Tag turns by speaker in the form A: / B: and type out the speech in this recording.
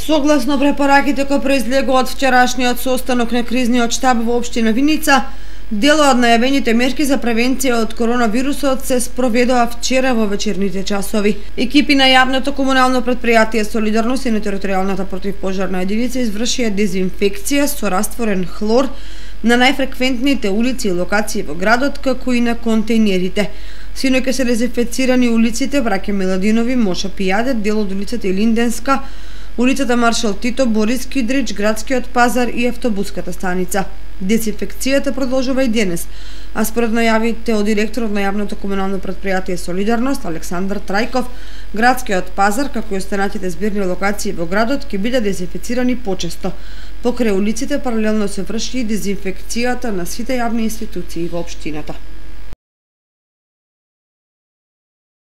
A: Согласно препораките кои произлегува од вчерашниот состанок на кризниот штаб во општина Виница, дел од најавените мерки за превенција од коронавирусот се спроведува вчера во вечерните часови. Екипи на јавното комунално претпријатие Солидарност и на територијалната противпожарна единица извршија дезинфекција со растворен хлор на најфреквентните улици и локации во градот, како и на контејнерите. Синоќ се дезинфецирани улиците Браќа Миладинови, Моша Пијаде, дел од улицата Илинденска, улицата Маршал Тито, Борис Кидрич, Градскиот пазар и автобуската станица. Дезинфекцијата продолжува и денес, а според најавите од директорот на јавното комунално претпријатие Солидарност Александар Трајков, Градскиот пазар, како и останатите збирни локации во градот, ќе бидат дезинфецирани почесто. Покрај улиците паралелно се врши и дезинфекцијата на сите јавни институции во општината.